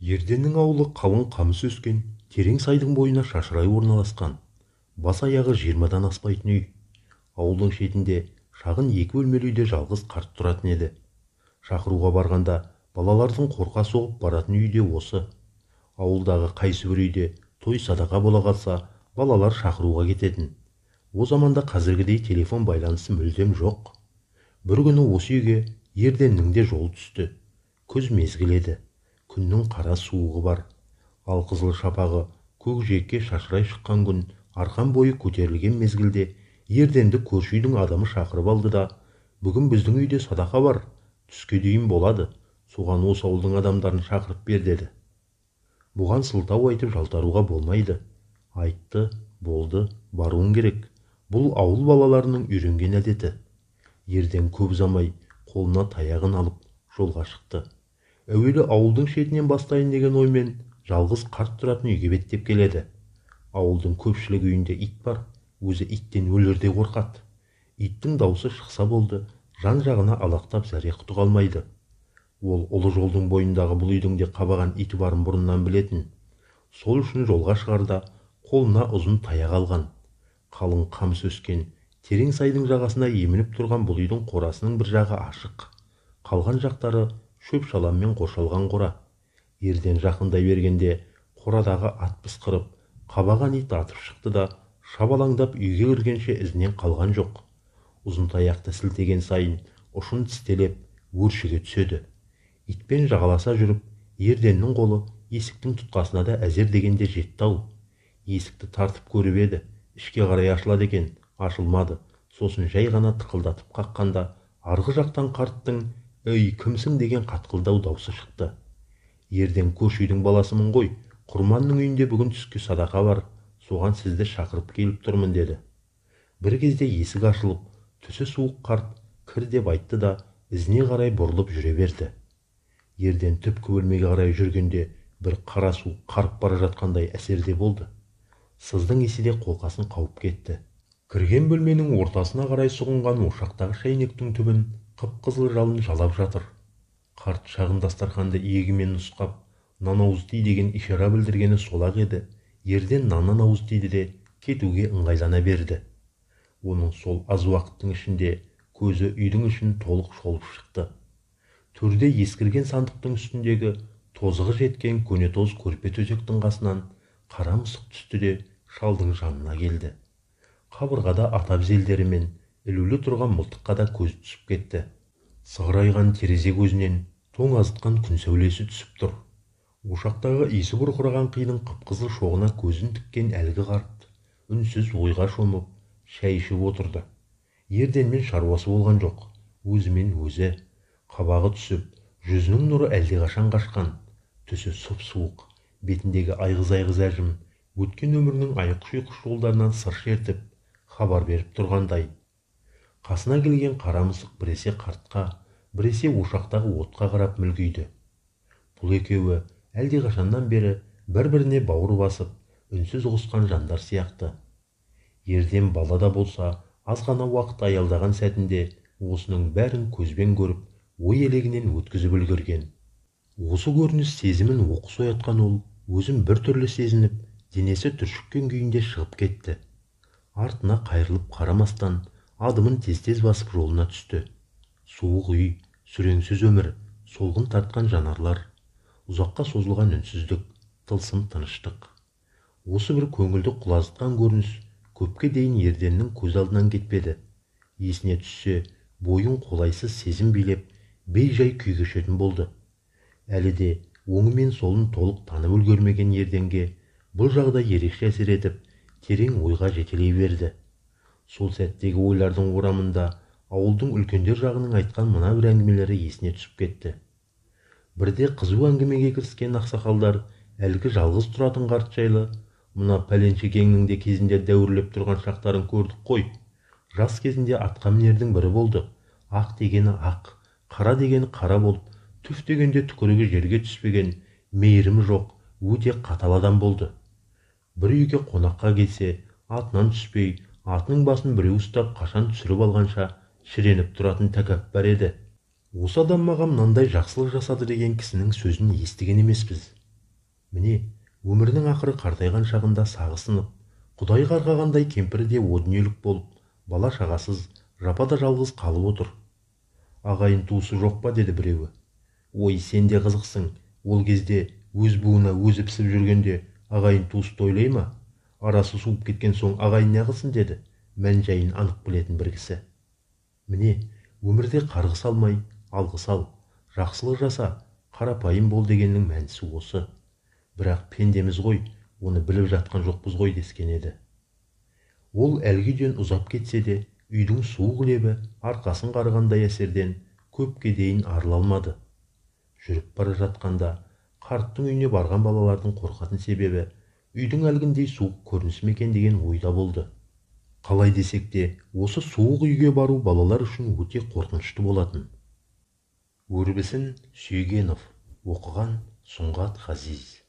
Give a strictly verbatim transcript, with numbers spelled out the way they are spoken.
Ерденнің ауылы қалың қамыс өскен, терең сайдың бойына шашырай орналасқан. Бас аяғы жиырмадан аспайтын үй. Ауылдың шетінде шағын екі бөлмелі үйде жалғыз қарт тұратын еді. Шақыруға барғанда балалардың қорқа соғып баратын үйде осы. Ауылдағы қайсыбір үйде той садақа бола қалса, балалар шақыруға кететін. О заманда қазіргідей телефон байланысы мүлдем жоқ. Бір күні осы үйге Ерденнің де жолы түсті. Күз мезгіл еді. Күннің қара суығы бар. Алқызыл шапағы көкжиекке шашырай шыққан күн арқан бойы көтерілген мезгілде Ерденді көрші үйдің адамы шақырып алды да: "Бүгін біздің үйде садақа бар, түске дейін болады, соған осы ауылдың адамдарын шақырып бер" деді. Бұған сылтау айтып жалтаруға болмайды. Айтты, болды, баруың керек. Бұл ауыл балаларының үйренген әдеті. Ерден көп ұзамай қолына таяғын алып жолға шықты. Әуелі ауылдың шетінен бастайын деген оймен жалғыз қарт тұратын үйге беттеп келеді. Ауылдың көпшілік үйінде ит бар, өзі иттен өлерде қорқады. Иттің даусы шықса болды, жан-жағына алақтап зәре-құты қалмайды. Ол ұлы жолдың бойындағы бұл үйдің де қабаған иті барын бұрыннан білетін. Сол үшін жолға шығарда қолына ұзын таяқ алған. Қалың қамыс өскен, терең сайдың жағасына емініп тұрған бұл үйдің қорасының бір жағы ашық. Қалған жақтары шөп шаламмен қоршалған қора. Ерден жақындай бергенде қорадағы ат пысқырып, қабаған ит атып шықты да шабалаңдап үйге кіргенше ізінен қалған жоқ. Ұзын таяқты сілтеген сайын ұшын тістелеп өршіге түседі. Итпен жағаласа жүріп, Ерденнің қолы есіктің тұтқасына да әзер дегенде жетті-ау. Есікті тартып көріп еді, ішке қарай ашылады екен, ашылмады. Сосын жай ғана тықылдатып қаққанда арғы жақтан қарттың "Ей, кімсің?" деген қатқылдау даусы шықты. Ерден көрші үйдің баласымын ғой, Құрманның үйінде бүгін түскі садақа бар, соған сізді шақырып келіп тұрмын деді. Бір кезде есік ашылып, түсі суық қарт "Кір" деп айтты да ізіне қарай бұрылып жүре берді. Ерден түпкі бөлмеге қарай жүргенде бір қара су қарып бара жатқандай әсерде болды. Сыздың иісі де қолқасын қауып кетті. Кірген бөлменің ортасына қарай сұғынған ошақтағы шайнектің түбін қып-қызыл жалын жалап жатыр. Қарт шағын дастарханды иегімен нұсқап, "Нан ауыз ти" деген ишара білдіргені сол-ақ еді. Ерден наннан ауыз тиді де кетуге ыңғайлана берді. Оның сол аз уақыттың ішінде көзі үйдің ішін толық шолып шықты. Төрде ескірген сандықтың үстіндегі тозығы жеткен көнетоз көрпе төсектің қасынан қара мысық түсті де шалдың жанына келді. Қабырғада ата безелдері мен ілулі тұрған мылтыққа да көз түсіп кетті. Сығырайған терезе көзінен тоңазытқан күн сәулесі түсіп тұр. Ошақтағы иісі бұрқыраған қидың қып-қызыл шоғына көзін тіккен әлгі қарт үнсіз ойға шомып шәй ішіп отырды. Ерденмен шаруасы болған жоқ, өзімен өзі. Қабағы түсіп, жүзінің нұры әлдеқашан қашқан. Түсі сұп-суық, бетіндегі айғыз-айғыз әжім өткен өмірінің айқыш-ұйқыш жолдарынан сыр шертіп хабар беріп тұрғандай. Қасына келген қара мысық біресе қартқа, біресе ошақтағы отқа қарап мүлгиді. Бұл екеуі әлдеқашаннан бері бір-біріне бауыр басып, үнсіз ұғысқан жандар сияқты. Ерден бала да болса, аз ғана уақыт аялдаған сәтінде осының бәрін көзбен көріп, ой елегінен өткізіп үлгерген. Осы көрініс сезімін оқыс оятқан ол, өзін бір түрлі сезініп, денесі түршіккен күйінде шығып кетті. Артына қайырылып қарамастан адымын тез-тез басып жолына түсті. Суық үй, сүреңсіз өмір, солғын тартқан жанарлар, ұзаққа созылған үнсіздік, тылсым тыныштық. Осы бір көңілді құлазытқан көрініс көпке дейін Ерденнің көз алдынан кетпеді. Есіне түссе, бойын қолайсыз сезім билеп, бей-жай күй кешетін болды. Әлі де оңы мен солын толық танып үлгермеген Ерденге бұл жағдай ерекше әсер етіп, терең ойға жетелей берді. Сол сәттегі ойлардың орамында ауылдың үлкендер жағының айтқан мына бір әңгімелері есіне түсіп кетті. Бірде қызу әңгімеге кіріскен ақсақалдар әлгі жалғыз тұратын қарт жайлы "Мына пәленшекеңнің де кезінде дәуірлеп тұрған шақтарын көрдік қой. Жас кезінде атқа мінердің бірі болды. Ақ дегені ақ, қара дегені қара болып, түф дегенде түкірігі жерге түспеген, мейірімі жоқ, өте қатал адам болды. Бір үйге қонаққа келсе, атынан түспей, атының басын біреу ұстап қашан түсіріп алғанша шіреніп тұратын тәкаппар еді. Осы адам маған мынандай жақсылық жасады деген кісінің сөзін естіген емеспіз. Міне, өмірінің ақыры қартайған шағында сағы сынып, құдай қарғағандай кемпірі де о дүниелік болып, бала шағасыз, жапада жалғыз қалып отыр. Ағайын туысы жоқ па, деді біреуі. Ой, сен де қызықсың, ол кезде өз буына өзі пісіп жүргенде ағайын туысты ойлай ма? Арасы суып кеткен соң ағайын неғылсын, деді мән жайын анық білетін бір кісі. Міне, өмірде қарғыс алмай, алғыс ал, жақсылық жаса, қарапайым бол дегеннің мәнісі осы. Бірақ пендеміз ғой, оны біліп жатқан жоқпыз ғой дескен еді. Ол әлгі үйден ұзап кетсе де, үйдің суық лебі арқасын қарығандай әсерден көпке дейін арыла алмады. Жүріп бара жатқанда қарттың үйіне барған балалардың қорқатын себебі үйдің әлгіндей суық көрінісі ме екен деген ойда болды. Қалай десек те, осы суық үйге бару балалар үшін өте қорқынышты болатын. Өрбісін Сүйгенов. Оқыған Сұңғат Ғазиз.